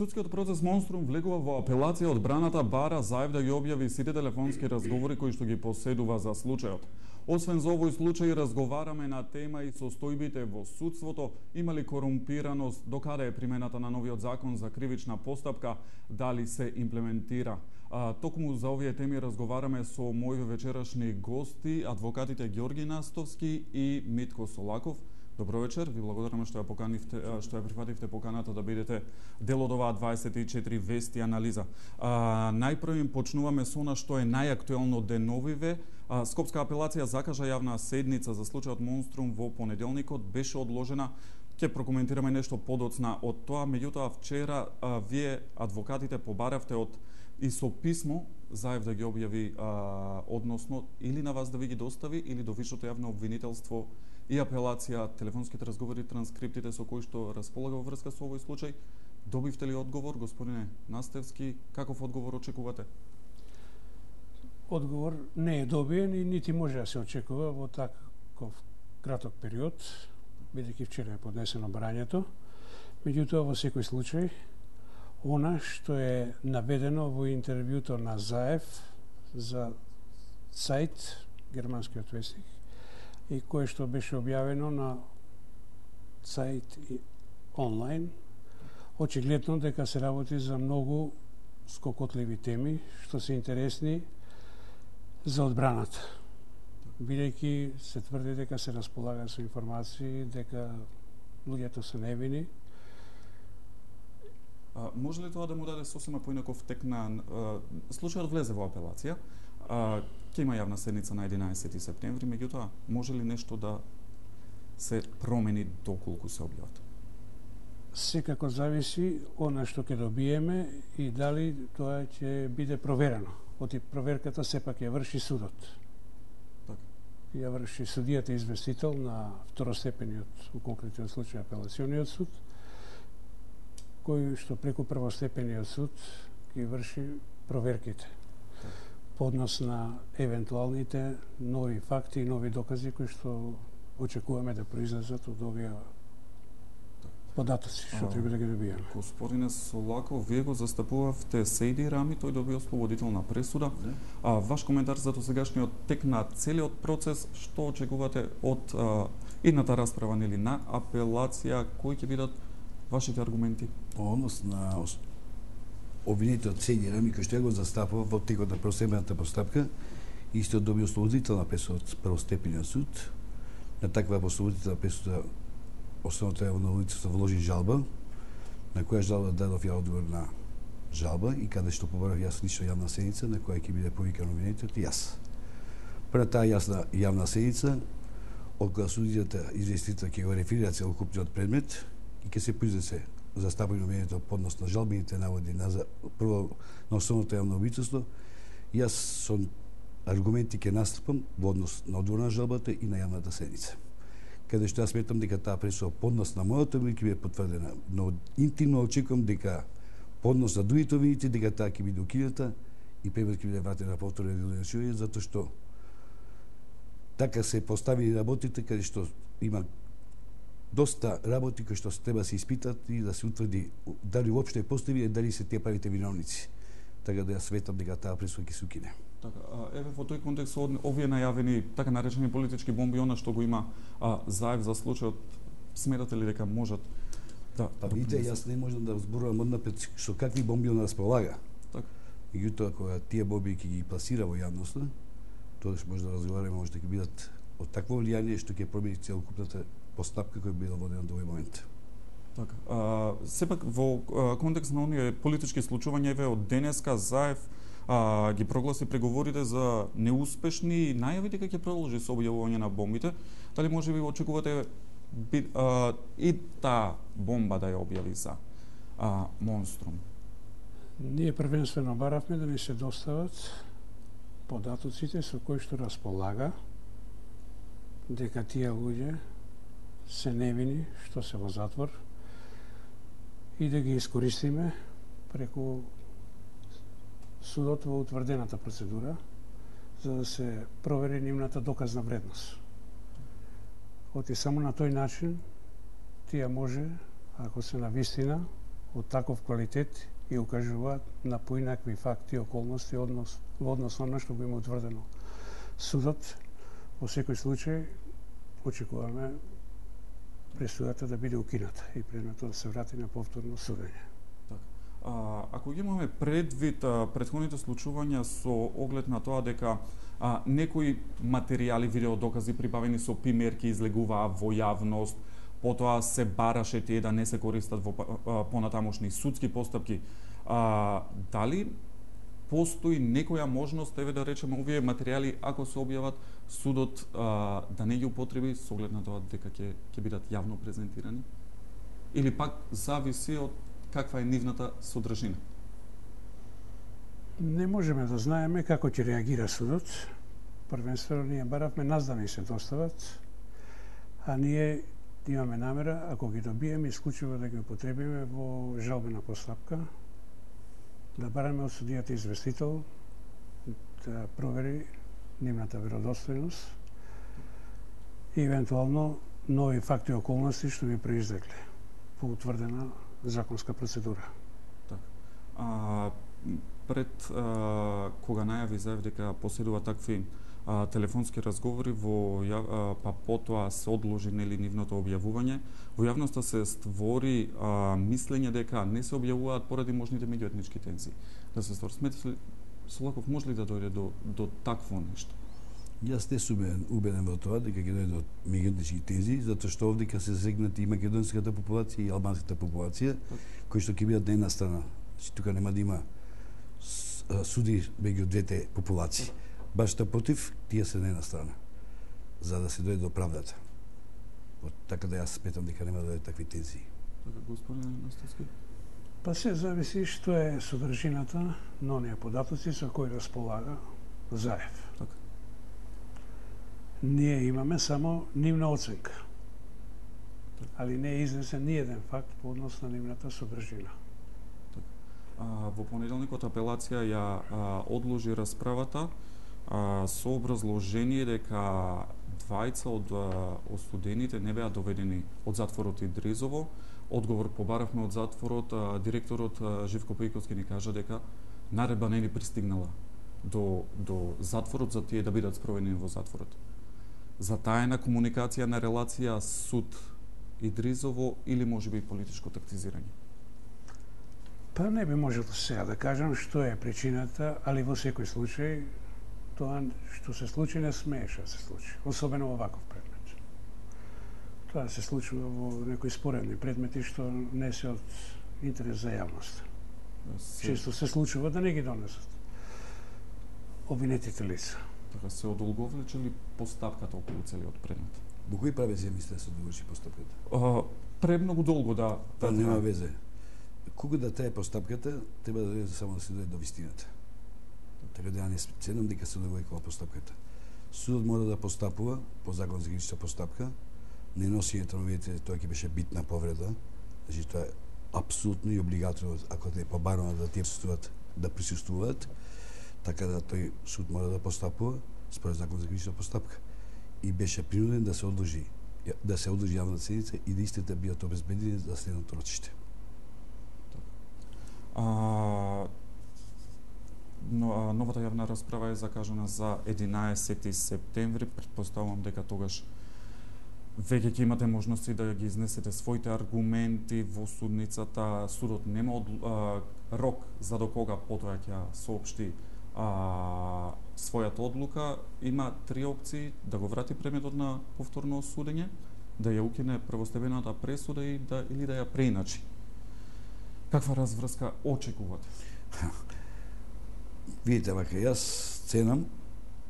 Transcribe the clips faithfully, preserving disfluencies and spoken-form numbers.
Судскиот процес Монструм влегува во апелација. Одбраната бара Заев да ги објави сите телефонски разговори кои што ги поседува за случајот. Освен за овој случај, разговараме на тема и состојбите во судството, има ли корумпираност, докаде е примената на новиот закон за кривична постапка, дали се имплементира. А, токму за овие теми разговараме со мои вечерашни гости, адвокатите Ѓорги Настовски и Митко Солаков. Добро вечер, ви благодараме што ја поканивте, што ја прифативте поканата да бидете дел од оваа дваесет и четири вести анализа. А, најпрво почнуваме со она што е најактуелно деновиве. А, Скопска апелација закажа јавна седница за случајот Монструм во понеделникот, беше одложена. Ќе прокоментираме нешто подоцна од тоа, меѓутоа вчера а, вие адвокатите побаравте од и со писмо Заев да ги објави, а, односно или на вас да ви ги достави, или до Висшето јавно обвинителство и апелација, телефонските разговори, транскриптите со кои што располага во врска со овој случај. Добивте ли одговор, господине Настевски? Каков одговор очекувате? Одговор не е добиен и нити може да се очекува во таков краток период, бидејќи вчера е поднесено барањето. Меѓутоа, во секој случај, она што е наведено во интервјуто на Заев за сајт, германскиот вестник, и кое што беше објавено на сајт и онлайн, очигледно дека се работи за многу скокотливи теми, што се интересни за одбраната. Бидејќи се тврди дека се располага со информации, дека луѓето се невини. А, може ли тоа да му даде сосема поинаков тек на... А, случајот влезе во апелација, а, ќе има јавна седница на единаесети септември, меѓутоа, може ли нешто да се промени доколку се објават? Секако зависи она што ќе добиеме и дали тоа ќе биде проверено. Оти проверката сепак ја врши судот. Так. Ја врши судијата известител на второстепениот, у конкретниот случај апелациониот суд, кој што преку првостепениот суд ги врши проверките. Так. По однос на евентуалните нови факти и нови докази кои што очекуваме да произлезат од овие податоци што треба да ги добиеме. Господине Солаков, вие го застапувавте Сейди Рами, тој добил ослободителна пресуда. Да. А ваш коментар за досегашниот тек на целиот процес, што очекувате од а, идната расправа нели на апелација, кои ќе бидат вашите аргументи? По однос на обвинетиот Сейди Рами, кој што ја го застапува во текот на првостепената постапка, исто доби ослободителна пресуда од првостепениот суд. На таква ослободителна пресуда Основното јавно обвинителство вложи жалба, на која жалба дадов ја одговор на жалба и каде што побарав јас лично јавна седница на која ќе биде повикан обвинетиот и јас. Пред таа јасна јавна седница, од која судијата известител ќе го реферира целокупниот предмет и ќе се произнесе застапување обвинетиот поднос на жалбените наводи на прво на основното јавно обвинителство. Јас со аргументи ќе настапам во однос на одговор на жалбата и на јавната седница, каде што јас сметам дека таа пресуда поднос на мојот обвинение ќе биде потврдена, но интимно очекувам дека поднос на другите обвинети дека таа ќе биде укината и предмет ќе биде вратен на повторно делегирање, затоа што така се поставени работите каде што има доста работи кои што треба да се испитат и да се утврди дали уопште постои и дали се тие правите виновници. Така да јас сметам дека таа пресуда ќе се укине. Така, еве во тој контекст овие најавени така наречени политички бомби, она што го има а, Заев за случајот, сметате ли дека можат да... Па видите, јас не можам да зборувам однапред со какви бомби он располага. Така. Меѓутоа, кога тие бомби ќе ги пласира во јавноста, тогаш може да разговараме, може да ќе бидат од такво влијание што ќе промени целокупната постапка која била водена до овој момент. Така. А, сепак во а, контекст на оние политички случувања, еве од денеска Заев а, ги прогласи преговорите за неуспешни и најави дека ќе продолжи со објавување на бомбите. Дали може би очекувате би, а, и таа бомба да ја објави за а, Монструм? Ние првенствено баравме да ни се достават податоците со кои што располага дека тие луѓе се невини што се во затвор и да ги искористиме преку судот во утврдената процедура за да се провери нивната доказна вредност. Оти само на тој начин тие може, ако се навистина од таков квалитет и укажуваат на поинакви факти и околности однос, во однос на што го има утврдено судот. Во секој случај очекуваме пресудата да биде укината и предметот да се врати на повторно судење. А, ако ги имаме предвид а, претходните случувања со оглед на тоа дека а, некои материјали, видеодокази прибавени со примерки излегуваа во јавност, потоа се бараше тие да не се користат во а, понатамошни судски постапки, а, дали постои некоја можност, еве да речеме, овие материјали, ако се објават, судот а, да не ги употреби со оглед на тоа дека ќе ќе бидат јавно презентирани? Или пак зависи од каква е нивната содржина? Не можеме да знаеме како ќе реагира судот. Првенствено ние баравме нас да ни се достават, а ние имаме намера, ако ги добиеме, исклучиво да ги употребиме во жалбена постапка, да бараме од судијата известител да провери нивната веродостојност и евентуално нови факти и околности што би произлегле по утврдена законска процедура. Так. А, пред а, кога најави заев дека поседува такви а, телефонски разговори во а, па потоа се одложи нели нивното објавување, во јавноста се створи а, мислење дека не се објавуваат поради можните меѓуетнички тензии. Да се створи, сметате ли Солаков може ли да дојде до до такво нешто? Јас не сум убеден во тоа дека ќе дојде до меѓуетнички тензии, затоа што овде ќе се засегнати и македонската популација и албанската популација, кои што ќе бидат на една страна. Значи тука нема да има суди меѓу двете популации. Баш напротив, тие се на една страна, за да се дојде до правдата. Така да јас сметам дека нема да дојде такви тензии. Така, господин Настовски? Па се зависи што е содржината на оние податоци со кои располага Заев. Така. Ние имаме само нивна оценка, али не е изнесен ни еден факт по однос на нивната содржина. А, во понеделникот апелација ја а, одложи расправата а, со образложение дека двајца од а, осудените не беа доведени од затворот Идризово. Одговор побаравме од затворот, а, директорот а, Живко Пејковски ни кажа дека наредба не ни пристигнала до, до затворот за тие да бидат спроведени во затворот. За тајна комуникација на релација суд Идризово или можеби политичко тактизирање? Па не би можел сега да кажам што е причината, али во секој случај тоа што се случи не смееше да се случи, особено во ваков предмет. Тоа се случува во некои споредни предмети што не се од интерес за јавност. Се... Често се случува да не ги донесат обвинетите лица. Така се одолговлече ли постапката околу целиот предмет? Во кој правец ја мислите да се доврши постапката? А, премногу долго да... Па да, нема везе. Кога да трае постапката, треба да дојде само да се дојде до вистината. Така да ја не ценам дека се довојкала постапката. Судот мора да постапува по закон за гранична постапка, не носењето на овие, тоа ќе беше битна повреда, значи тоа е апсолутно и облигаторно, ако те побарано да тие присуствуваат, да присуствуваат, така да тој суд мора да постапува според закон за гранична постапка и беше принуден да се одложи да се одложи јавна седница и да истите бидат обезбедени за следното рочиште. А, но, новата јавна расправа е закажана за единаесети септември. Претпоставувам дека тогаш веќе ќе имате можности да ги изнесете своите аргументи во судницата. Судот нема од, а, рок за до кога потоа ќе соопшти а, својата одлука. Има три опции: да го врати предметот на повторно судење, да ја укине првостепената пресуда и да, или да ја преиначи. Каква разврска очекувате? Видите, вака, јас ценам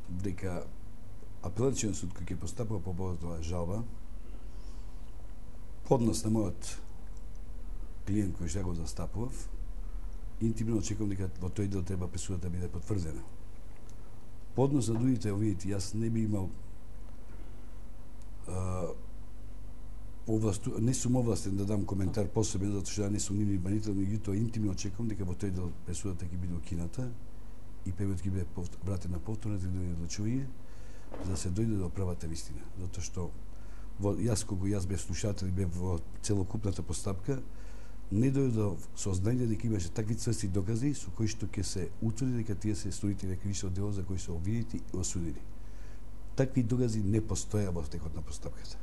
дека апелацијен суд кој ќе постапува по повод оваа жалба, поднос на мојот клиент кој што го застапував, интимно очекувам дека во тој дел треба пресудата да биде потврдена. Поднос на другите, видите, јас не би имал а, овласту, не сум овластен да дам коментар посебен, затоа што ја не сум нивни банител, меѓутоа интимно очекувам дека во тој дел пресудата ќе биде укината и предметот ќе биде вратен на повторно одлучување, за да се дојде до правата вистина. Затоа што во, јас кога јас бев слушател и бев во целокупната постапка, не дојде до сознание дека имаше такви цврсти докази со кои што ќе се утврди дека тие се сторители на кривично дело за кои се обвинети и осудени. Такви докази не постоја во текот на постапката.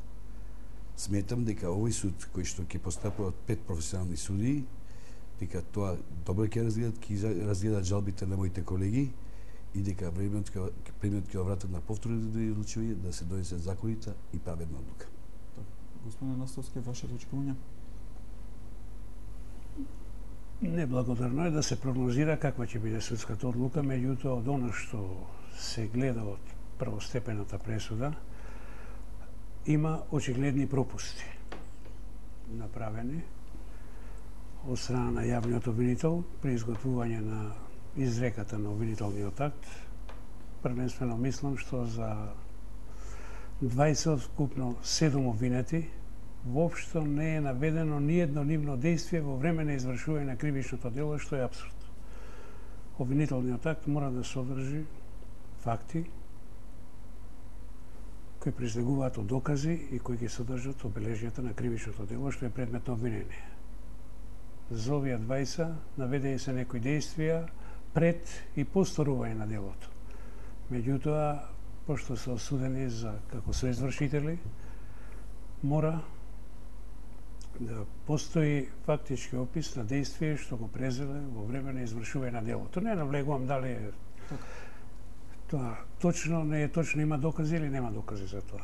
Сметам дека овој суд кој што ќе постапува од пет професионални судии, дека тоа добро ќе разгледат, ќе разгледат жалбите на моите колеги и дека временот ќе премиот ќе вратат на повторно одлучување да се донесе законита и праведна одлука. Господин Настовски, ваше очекување? Неблагодарно е да се прогнозира каква ќе биде судската одлука, меѓутоа од она што се гледа од првостепената пресуда, има очигледни пропусти направени од страна на јавниот обвинител при изготвување на изреката на обвинителниот акт. Првенствено мислам што за дваесет од вкупно седум обвинети воопшто не е наведено ни едно нивно действие во време на извршување на кривичното дело, што е апсурд. Обвинителниот акт мора да содржи факти кои произлегуваат од докази и кои ги содржат обележјата на кривичното дело, што е предмет на обвинение. За овие дваесет наведени се некои действија пред и по сторување на делото. Меѓутоа, пошто се осудени за како соизвршители, мора да постои фактички опис на действие што го презеле во време на извршување на делото. Не навлегувам дали е тоа точно, не е точно, има докази или нема докази за тоа.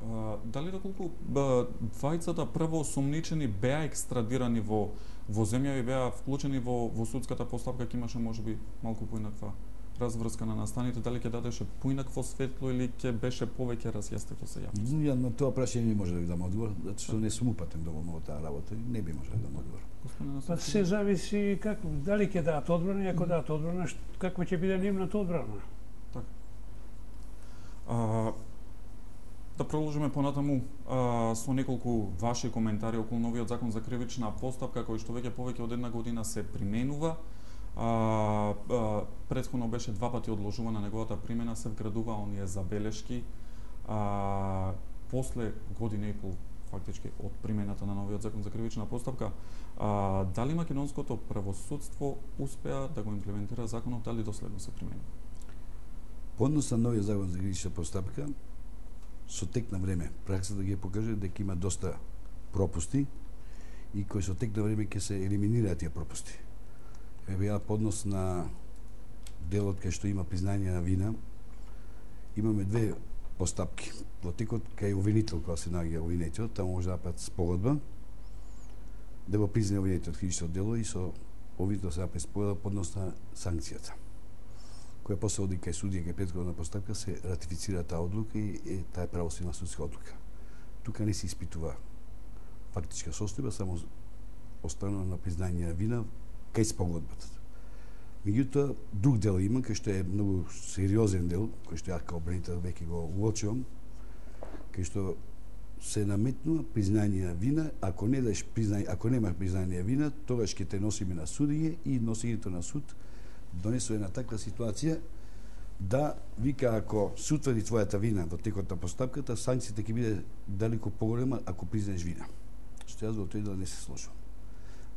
А, дали доколку двајцата прво осомничени беа екстрадирани во во земја и беа вклучени во во судската постапка, ќе имаше можеби малку поинаква разврска на настаните, дали ќе дадеше поинакво светло или ќе беше повеќе разјаснето се јавност? Ја на тоа прашање не може да ви дам одговор, затоа што не сум упатен доволно во таа работа и не би можел да дам одговор. Па се зависи како дали ќе дадат одбрана и ако дадат одбрана, каква ќе биде нивната одбрана. Така. А, да продолжиме понатаму а, со неколку ваши коментари околу новиот закон за кривична постапка кој што веќе повеќе од една година се применува. А, а, претходно беше два пати одложувана неговата примена, се вградува оние забелешки. А, после година и пол фактички од примената на новиот закон за кривична постапка, а, дали македонското правосудство успеа да го имплементира законот, дали доследно се применува? По однос на новиот закон за кривична постапка, со тек на време, праксата ги покаже дека има доста пропусти и кои со тек на време ќе се елиминираат тие пропусти. Еве ја по однос на делот кај што има признање на вина, имаме две постапки. Во текот кај обвинител, кога се наоѓа обвинетиот, таму може да направат спогодба да го признае обвинетиот кривично дело и со обвинетел се направи спогодба по однос на санкцијата, која после оди кај судија, кај претходна постапка, се ратифицира таа одлука и е, таа е правосудна судска одлука. Тука не се испитува фактичка состојба, само останува на признање на вина кај спогодбата. Меѓутоа, друг дел има, кај што е многу сериозен дел, кој што ја као бранител веќе го уочувам, кај што се наметнува признање на вина, ако не даш признање, ако нема признање на вина, тогаш ќе те носиме на судиње и носењето на суд донесува една таква ситуација да вика ако се утврди твојата вина во текот на постапката, санкцијата ќе биде далеку поголема ако признаеш вина. Што јас во тој дел не се сложувам.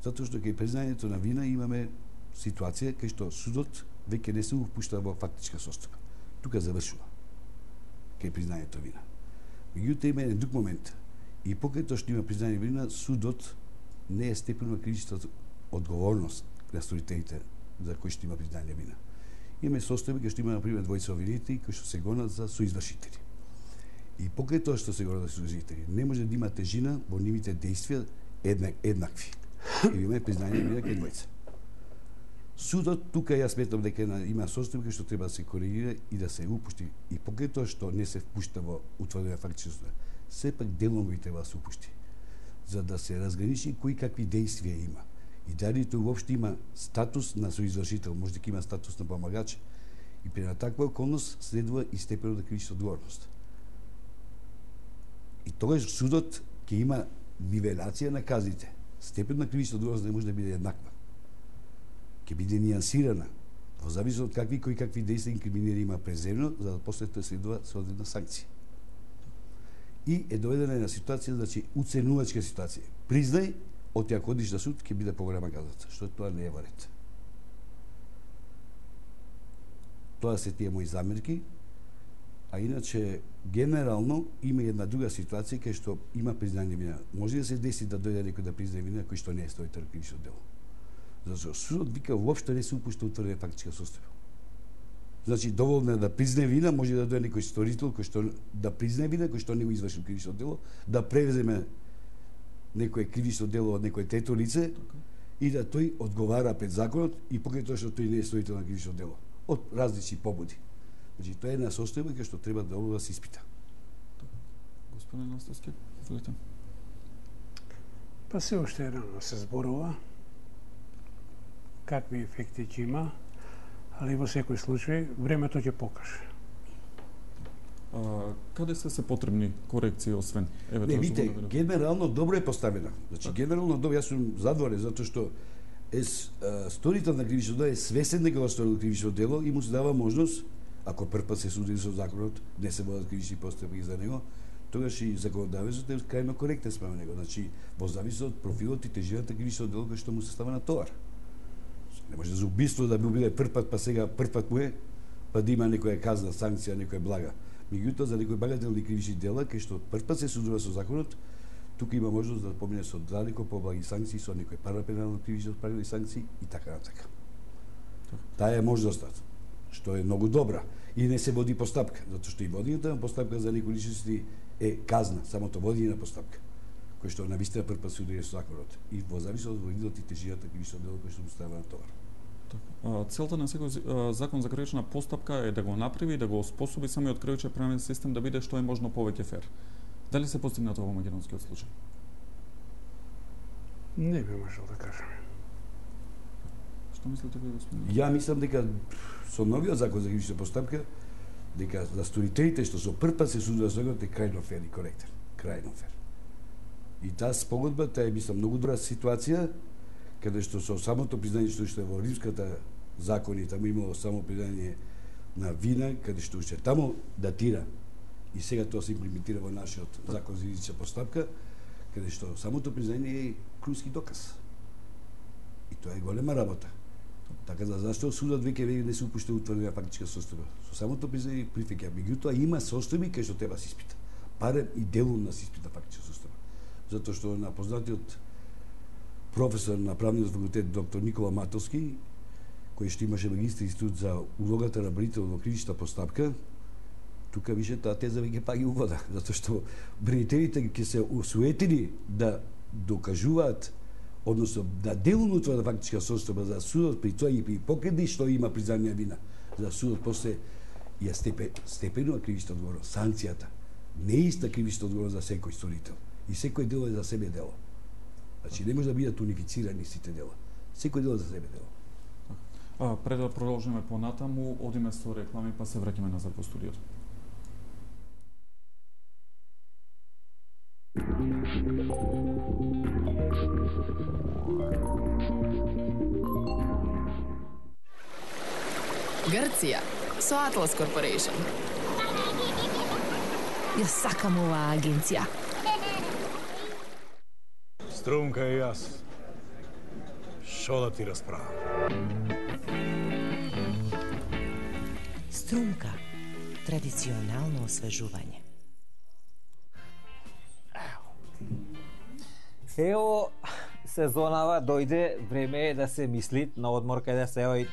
Затоа што кај признањето на вина имаме ситуација кај што судот веќе не се упушта во фактичка состојба. Тука завршува кај признањето вина. Меѓутоа има еден друг момент. И покрај тоа што има признање вина, судот не е степен на кривичната одговорност на сторителите за кои што има признање вина. Имаме состојби кај што има например двојца обвинети кои што се гонат за соизвршители. И покрај тоа што се гонат за соизвршители, не може да има тежина во нивните действија еднак, еднакви. И имаме признање вина кај двојца. Судот тука јас сметам дека има состојби што треба да се коригира и да се упушти. И покрај тоа што не се впушта во утврдена фактичност, сепак делови треба да се упушти, за да се разграничи кои какви действија има. И дали тој уопште има статус на соизвршител, може дека има статус на помагач. И при на таква околност следува и степенот на кривична одговорност. И тогаш судот ќе има нивелација на казните. Степен на кривична одговорност не може да биде еднаква. Ќе биде нијансирана во зависност од какви кои какви действија инкриминери има преземно, за да после тоа следува соодветна санкција. И е доведена на ситуација, значи уценувачка ситуација. Признај, од ја кодиш на суд ќе биде поголема казаца, што тоа не е во ред. Тоа се тие мои замерки, а иначе генерално има една друга ситуација кај што има признание вина. Може да се деси да дојде некој да признае вина кој што не е стоител кривично дело. Зашто судот вика воопшто не се упушта утврдена фактичка состојба. Значи доволно е да признае вина, може да дојде некој сторител кој што да признае вина, кој што не го извршил кривично дело, да превземе некое кривично дело од некој трето лице и да тој одговара пред законот и покрај тоа што тој не е стоител на кривично дело од различни побуди. Значи тоа е една состојба која што треба да да се испита. Господин Настовски, изволете. Па се уште рано се зборува какви ефекти ќе има, али во секој случај времето ќе покаже. А, каде се се потребни корекции освен евентуално? Не, видите, генерално добро е поставена. Значи так. Генерално добро, јас сум задоволен затоа што е сторител на кривично дело е свесен дека го сторил кривично дело и му се дава можност, ако прв пат се суди со законот, не се водат кривични постапки за него, тогаш и законодавецот е крајно коректен спрема него. Значи, во зависи од профилот и тежината кривично дело кој што му се става на товар. Не може за убиство да би биде прв пат, па сега прв пат му е, па да има некоја казна, санкција, некоја блага. Меѓутоа, за некои багателни кривични дела, кај што прв пат се судува со законот, тука има можност да помине со далеко поблаги санкции, со некои парапенално кривично правили санкции и така натака. Таа е можноста, што е многу добра. И не се води постапка, затоа што и водењето на постапка за некои личности е казна, самото водење на постапка, кој што навистина прв пат се удри со законот. И во зависи од видот и тежината кривично дело кој што му става на товар. Целта на секој закон за кривична постапка е да го направи и да го оспособи самиот кривичен правен систем да биде што е можно повеќе фер. Дали се постигна тоа во македонскиот случај? Не би можел да кажам. Што мислите ви, господин? Ја мислам дека со новиот закон за кривична постапка дека за сторителите што со прв пат се судува со законот е крајно фер и коректен, крајно фер. И таа спогодба, таа е мислам многу добра ситуација, каде што со самото признање што е во римската закони, таму имало само признање на вина, каде што уште таму датира и сега тоа се имплементира во нашиот закон за кривична постапка, каде што самото признање е круски доказ. И тоа е голема работа. Така да зашто судот веќе веќе не се упушта утврдена фактичка состојба. Со самото признање прифеќа, меѓутоа има состојби кај што треба се испита. Барем и делум на се испита фактичка состојба. Затоа што на познатиот професор на правниот факултет доктор Никола Матовски, кој што имаше магистри институт за улогата на бранител во кривична постапка, тука више таа теза веќе паѓа у вода, затоа што бранителите ќе се усуетени да докажуваат, односно да делумно тоа да фактичка состојба за судот при тоа и при покреди што има признање вина, за судот после ја степе, степенува кривична одговорност, санкцијата. Не е иста кривична одговорност за секој сторител. И секој дело е за себе дело. Значи не може да бидат унифицирани сите дела. Секој дело за себе дело. А, пред да продолжиме понатаму, одиме со реклами, па се враќаме назад во студиото. Грција со Atlas Corporation. Ја сакам оваа агенција. Струмка и јас. Шо да ти расправам? Струмка. Традиционално освежување. Ево, сезонава дојде, време е да се мисли на одмор каде се ој.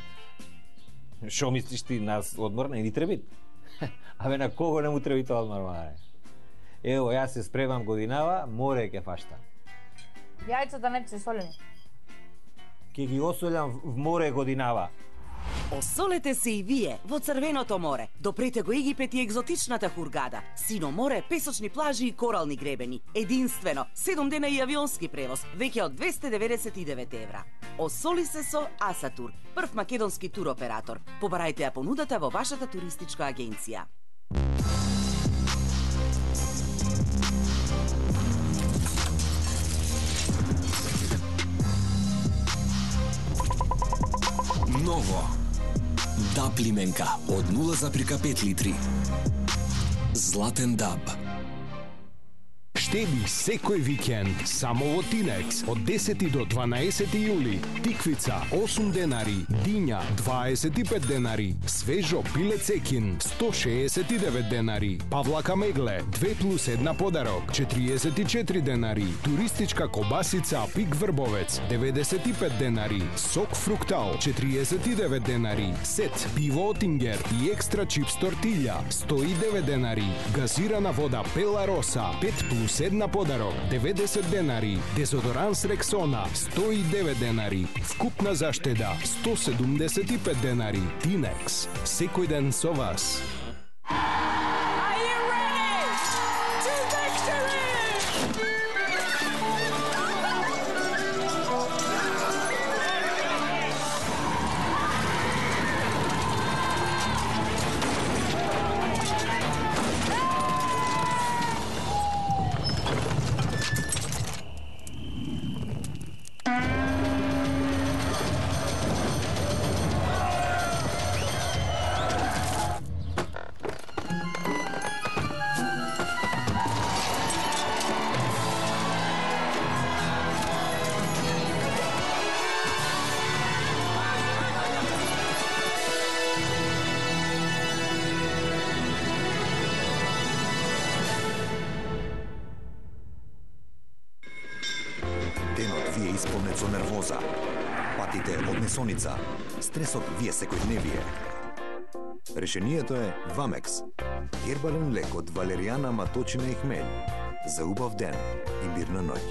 Шо мислиш ти, нас одмор не ни треби? Абе, на кого не му треби тоа одмор, маре? Ево, јас се спремам годинава, море ќе фаштам. Јајцата не се солени. Ке ги осолјам в море годинава. Осолете се и вие во Црвеното море. Допрете го Египет и екзотичната Хургада. Сино море, песочни плажи и корални гребени. Единствено, седум дена и авионски превоз, веќе од двесте деветдесет и девет евра. Осоли се со Асатур, прв македонски туроператор. Побарајте ја понудата во вашата туристичка агенција. Ново. Даб лименка од нула зарез пет литри. Златен даб. Штеди секој викенд само во Тинекс од десети до дванаесети јули. Тиквица осум денари, диња дваесет и пет денари, свежо пиле цекин сто шеесет и девет денари, павлака мегле две плюс една подарок четириесет и четири денари, туристичка кобасица Пик Врбовец деветдесет и пет денари, сок фруктал четириесет и девет денари, сет пиво Отингер и екстра чипс тортилја сто и девет денари, газирана вода Пела Роса пет плюс една подарок деветдесет денари, дезодоранс Рексона сто и девет денари, вкупна заштеда сто седумдесет и пет денари. Тинекс, секој ден со вас. Исполнет со нервоза, патите од несоница, стресот ви е секојдневие. Решението е Вамекс. Гербален лек од валеријана, маточина и хмелј. За убав ден и мирна ноќ.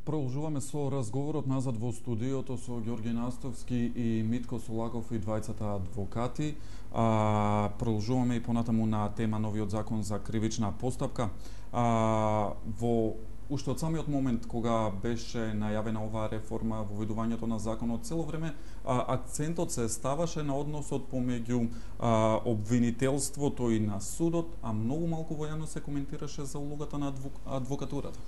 Продолжуваме со разговорот назад во студиото со Ѓорги Настовски и Митко Солаков и двајцата адвокати. А, продолжуваме и понатаму на тема новиот закон за кривична постапка. А, во уште од самиот момент кога беше најавена оваа реформа во воведувањето на законот, цело време а, акцентот се ставаше на односот помеѓу а, обвинителството и на судот, а многу малку во јавност се коментираше за улогата на адвок, адвокатурата.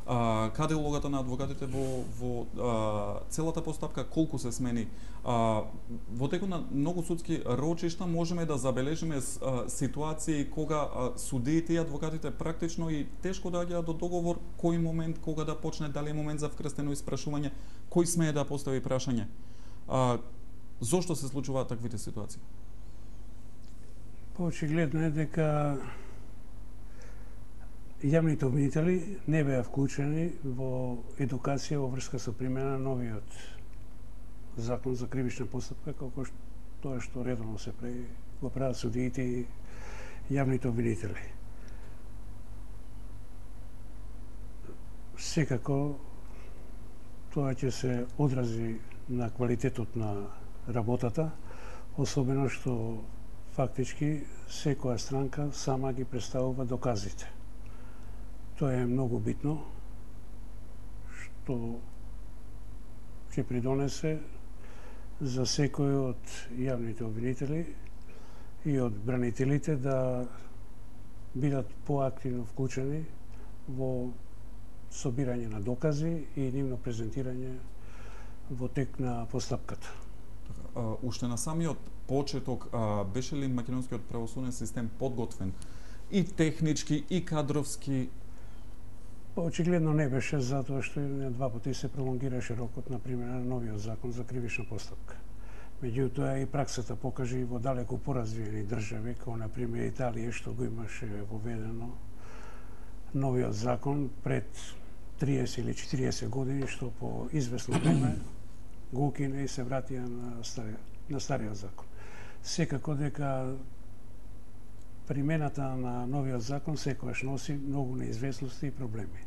А, каде е улогата на адвокатите во, во а, целата постапка, колку се смени. А, во текот на многу судски рочишта можеме да забележиме а, ситуации кога а, судиите и адвокатите практично и тешко доаѓаат до договор кој момент, кога да почне, дали е момент за вкрстено испрашување, кој смее да постави прашање. А, зошто се случуваат таквите ситуации? Очигледно е дека јавните обвинители не беа вклучени во едукација во врска со примена на новиот закон за кривична постапка, како што тоа што редовно се прави го прават судиите и јавните обвинители. Секако тоа ќе се одрази на квалитетот на работата, особено што фактички секоја странка сама ги представува доказите. Тоа е многу битно, што ќе придонесе за секој од јавните обвинители и од бранителите да бидат поактивно вклучени во собирање на докази и нивно презентирање во тек на постапката. А, уште на самиот почеток а, беше ли македонскиот правосуден систем подготвен и технички и кадровски? Очигледно не беше, затоа што на два пати се пролонгираше рокот на примена на новиот закон за кривична постапка. Меѓутоа и праксата покажи и во далеку поразвиени држави, како на пример Италија, што го имаше воведено новиот закон пред триесет или четириесет години, што по известно време го укина и се вратија на стариот, на стариот закон. Секако дека примената на новиот закон секогаш носи многу неизвестности и проблеми.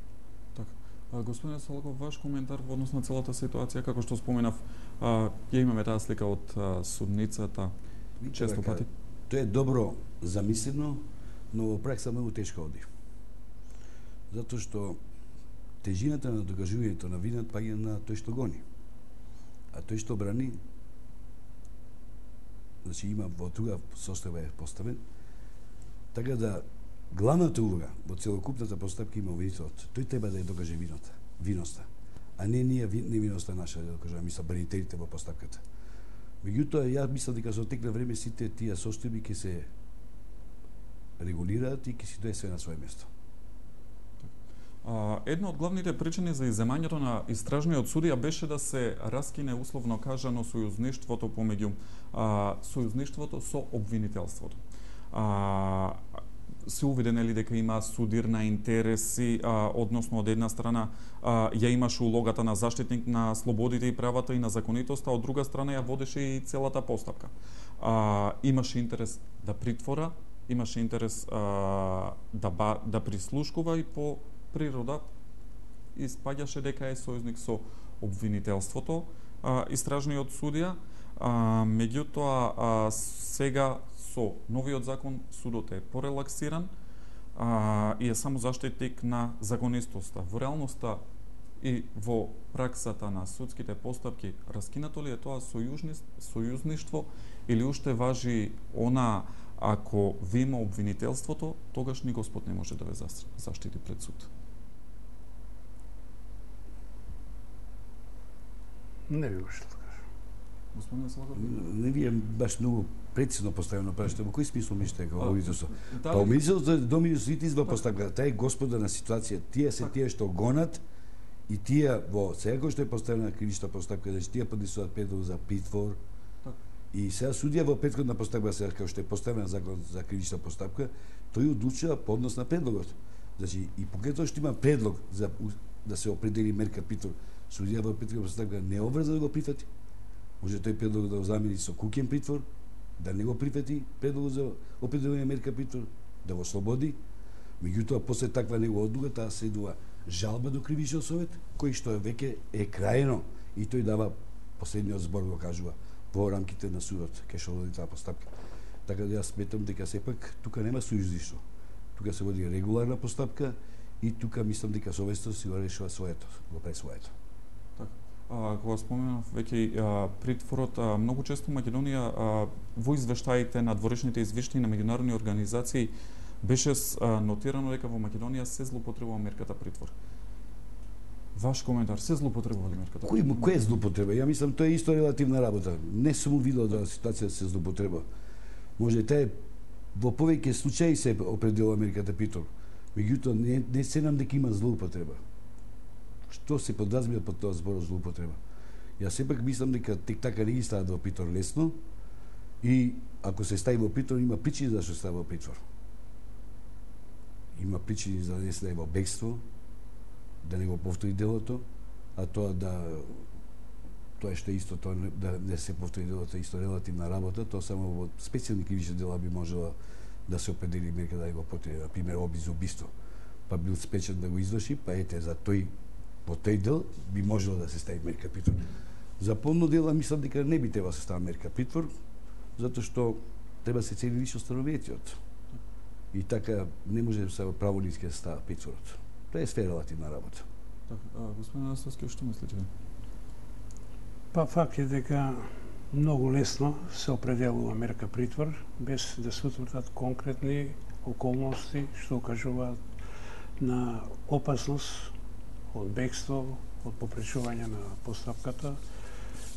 Така. Господин Солаков, ваш коментар во однос на целата ситуација, како што споменав, а, ја имаме таа слика од а, судницата често пати. Тоа е добро замислено, но во пракса многу тешко оди. Затоа што тежината на докажувањето на вината паѓа на тој што гони. А тој што брани, значи има во друга состојба е поставен, така да главната улога во целокупната постапка има обвинителот. Тој треба да ја докаже вината, виноста, а не ние невиноста наша да докажеме, мисла бранителите во постапката. Меѓутоа, ја мислам дека со тек на време сите тие состојби ќе се регулираат и ќе си дојде све на свое место. А, една од главните причини за изземањето на истражниот судија беше да се раскине условно кажано сојузништвото помеѓу а, сојузништвото со обвинителството. А, се увиде нели дека има судир на интереси, а, односно од една страна а, ја имаше улогата на заштитник на слободите и правата и на законитоста, од друга страна ја водеше и целата постапка. А, имаше интерес да притвора, имаше интерес а, да ба, да прислушкува и по природа испаѓаше дека е сојузник со обвинителството, а, истражниот судија, а, меѓутоа а, сега со новиот закон судот е порелаксиран а, и е само заштитник на законистоста. Во реалноста и во праксата на судските постапки раскинато ли е тоа сојузништво или уште важи она ако ви има обвинителството, тогаш ни Господ не може да ве заштити пред суд? Не ви може да кажа. Господин Слагов? Не ви е баш многу прецизно поставено прашање. Во кој смисол мислите дека обвинителство? Да, Па обвинителството доминус литис во постапка. Тај е господар на ситуација. Тие се тие што гонат и тие во сега кој што е поставена кривична постапка, значи тие поднесуваат предлог за притвор. И сега судија во претходна постапка, сега како што е поставена закон за кривична постапка, тој одлучува по однос на предлогот. Значи и покај што има предлог за да се определи мерка притвор, судија во претходна постапка не обврза да го прифати. Може тој предлог да го замени со куќен притвор, да не го прифати предлог за определување мерка притвор, да го слободи. Меѓутоа после таква негова одлука таа следува жалба до кривичниот совет, кој што веќе е крајно и тој дава последниот збор, го кажува во рамките на судот, ке што води таа постапка. Така да јас сметам дека сепак тука нема сојузништво. Тука се води регуларна постапка и тука мислам дека совеста си го решува своето, го прави своето. Така. А, кога споменав веќе а, притворот, а, многу често Македонија а, во извештаите на дворешните извештаи на меѓународни организации беше а, нотирано дека во Македонија се злоупотребува мерката притвор. Ваш коментар, се злоупотребува ли мерката? Кој кој е злоупотреба? Ја мислам тоа е исто релативна работа. Не сум видел да ситуација се злоупотреба. Може таа во повеќе случаи се определува мерката притвор. Меѓутоа не, не се нам дека има злоупотреба. Што се подразбира под тоа збор злоупотреба? Јас сепак мислам дека тек така не ги стават во притвор лесно и ако се стави во притвор има причини зашто се стави во притвор. Има причини за да не се даде во бегство, да не го повтори делото, а тоа да тоа што е исто, тоа да не се повтори делото е исто релативна работа, тоа само во специјални кривични дела би можела да се определи мерка да го повтори, на пример обид за убиство, па бил спечен да го изврши, па ете за тој во тој дел би можело да се стави мерка притвор. За полно дела мислам дека не би треба да се стави мерка притвор, затоа што треба се цели лично становијето. И така не може да се праволински да се става притворот. Тоа е све релативна работа. Така, господин Анастасовски, што мислите? Па факт е дека многу лесно се определува мерка притвор без да се утврдат конкретни околности што укажуваат на опасност од бегство, од попречување на постапката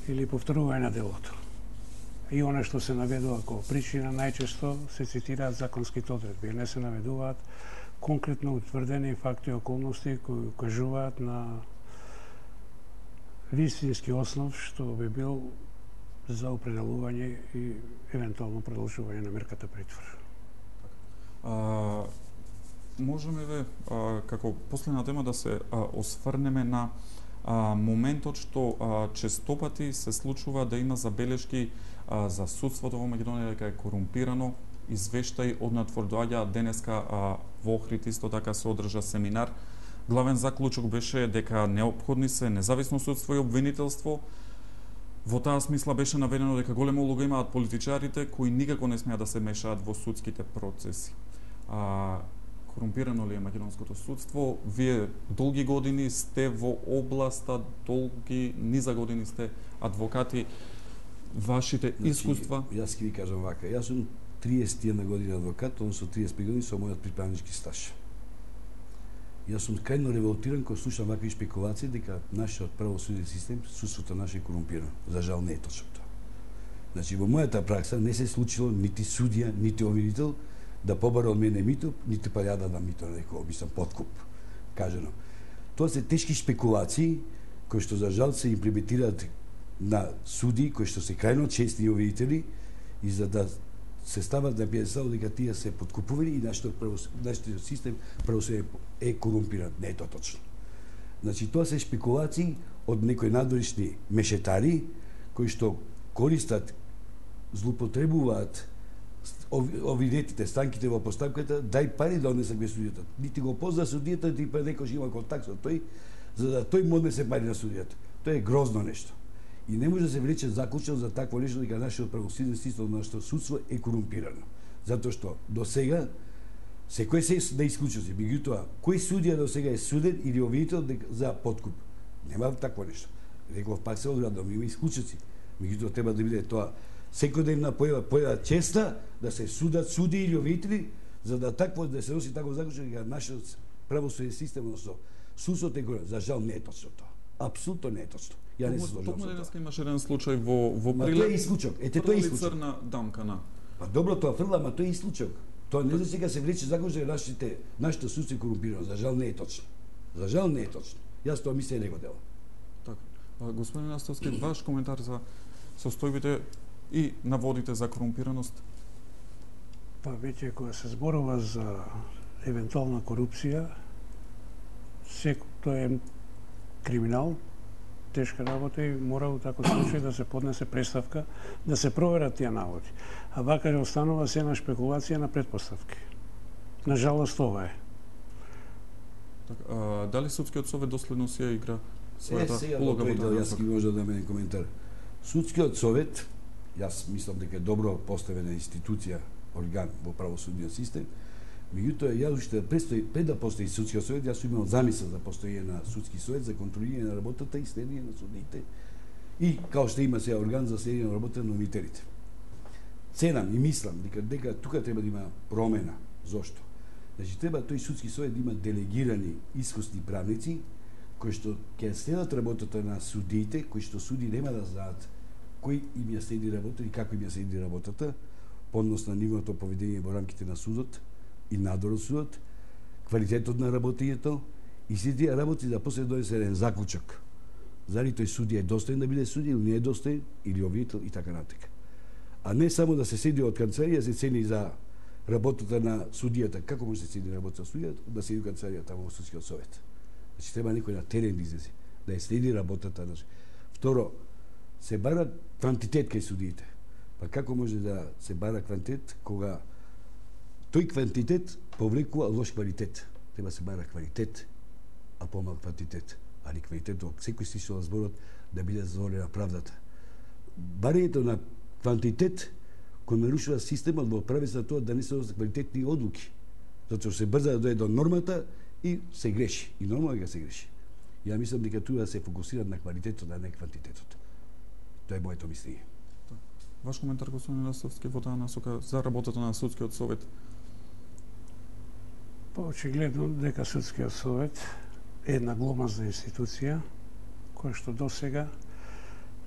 или повторување на делото. И оно што се наведува како причина најчесто се цитираат законските одредби, не се наведуваат конкретно утврдени факти и околности кои укажуваат на вистински основ што би бил за определување и евентуално продолжување на мерката притвор. А, можеме ве, а, како последна тема да се а, осврнеме на а, моментот што а, честопати се случува да има забелешки а, за судството во Македонија дека е корумпирано, извештаи однатвор доаѓа денеска а, во Охрид исто така се одржа семинар. Главен заклучок беше дека неопходни се независно судство и обвинителство. Во таа смисла беше наведено дека голема улога имаат политичарите кои никако не смеат да се мешаат во судските процеси. А, корумпирано ли е македонското судство? Вие долги години сте во областа, долги низа години сте адвокати. Вашите значи, искуства? Јас ќе ви кажам вака. Јас сум триесет и една година адвокат, односно триесет и пет години со мојот приправнички стаж. Јас сум крајно револтиран кога слушам вакви спекулации дека нашиот правосуден систем, судството наше е корумпирано. За жал не е точно тоа. Значи, во мојата пракса не се случило нити судија, нити обвинител да побара од мене мито, нити па ја да дам мито на некој, мислам, подкуп, кажено. Тоа се тешки шпекулации, кои што за жал се имплементираат на суди, кои што се крајно честни обвинители, и за да се стават на пиедестал дека тие се подкупувани и нашиот нашиот систем правосудие е корумпиран. Не е тоа точно. Значи, тоа се шпекулации од некои надворешни мешетари, кои што користат, злоупотребуваат обвинетите, странките во постапката, дај пари да однесат без судијата. Нити го позна судијата, нити па некој има контакт со тој, за да тој му однесе пари на судијата. Тоа е грозно нешто. И не може да се влече заклучок за такво нешто дека нашиот правосуден систем, нашето судство е корумпирано. Затоа што до сега секој се да исклучоци, меѓутоа кој судија до сега е суден или обвинител за подкуп? Нема такво нешто. Реков пак се одредно, има исклучоци. Меѓутоа треба да биде тоа секојдневна појава појава честа да се судат суди или обвинители, за да такво да се носи таков заклучок дека нашиот правосуден систем, односно судството е корумпирано. За жал не е точно тоа. Апсолутно не е точно. Ја не се сложам Токму со денеска тоа. имаше еден случај во во Ма Прилеп. тоа е исклучок. Ете тоа е исклучок. Црна дамка на. Па добро, тоа фрла, ама тоа е исклучок. Тоа не за сега се влече заклучок дека нашите нашето судство е корумпирано. За жал не е точно. За жал не е точно. Јас тоа мислам и него делам. Така. А, господин Настовски, ваш коментар за состојбите и наводите за корумпираност? Па веќе кога се зборува за евентуална корупција, секој тоа е криминал, тешка работа и мора во таков случај да се поднесе представка, да се проверат тие наводи. А вака останува се една шпекулација на предпоставки. На жалост ова е. Така, а, дали судскиот совет доследно си ја игра Е, својата сега улога во во тој дел таа јас насока? ќе може да мене коментар. Судскиот совет, јас мислам дека е добро поставена институција, орган во правосудниот систем, меѓутоа ја уште престои пред да постои судскиот совет, јас сум имал замисла за постоење на судски совет за контролирање на работата и следење на судиите и као што има сега орган за следење на работата на обвинителите. Ценам и мислам дека дека тука треба да има промена. Зошто? Значи треба тој судски совет да има делегирани искусни правници кои што ќе следат работата на судиите, кои што суди нема да знаат кој им ја следи работата и како им ја следи работата, по однос на нивното поведение во рамките на судот и надзор од судот, квалитетот на работењето и сите тие работи да после донесе еден заклучок. Зали тој судија е достоен да биде судија или не е достоен, или обвинител и така натака. А не само да се седи од канцеларија, се цени за работата на судијата. Како може да се седи работата на судијата, да седи од канцеларијата во судскиот совет? Значи треба некој на терен да излезе, да ја следи работата на. Второ, се бара квантитет кај судиите. Па како може да се бара квантитет кога тој квантитет повлекува лош квалитет? Треба се бара квалитет, а помал квантитет. Али квалитетот, секој стишува на зборот да биде задоволена правдата. Барањето на квантитет кој нарушува системот во правец на тоа да не се донесат квалитетни одлуки. Затоа се брза да дојде до нормата и се греши. И нормално дека се греши. Ја мислам дека тука се фокусираат на квалитетот, а не квантитетот. Тоа е моето мислење. Ваш коментар, господин Настовски, во таа насока за работата на судскиот совет? Па очигледно дека судскиот совет е една гломазна институција која што досега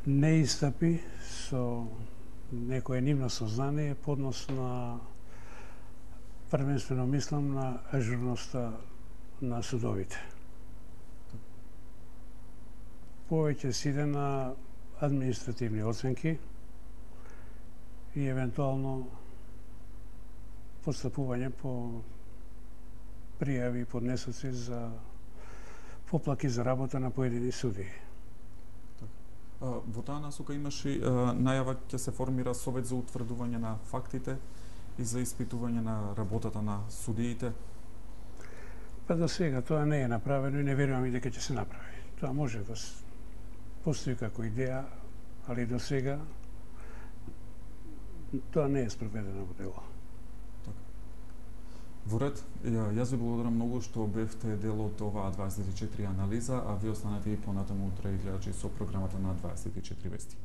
не истапи со некое нивно сознание по однос на, првенствено мислам, на ажурноста на судовите. Повеќе се иде на административни оценки и евентуално постапување по пријави и поднесоци за поплаки за работа на поедини суди. Во таа насока имаше најава ќе се формира совет за утврдување на фактите и за испитување на работата на судиите. Па до сега тоа не е направено и не верувам и дека ќе се направи. Тоа може да постои како идеја, али до сега тоа не е спроведено во дело. Во ред, јас ви благодарам многу што бевте дел од оваа дваесет и четири анализа, а ви останете и понатаму утре гледачи со програмата на дваесет и четири вести.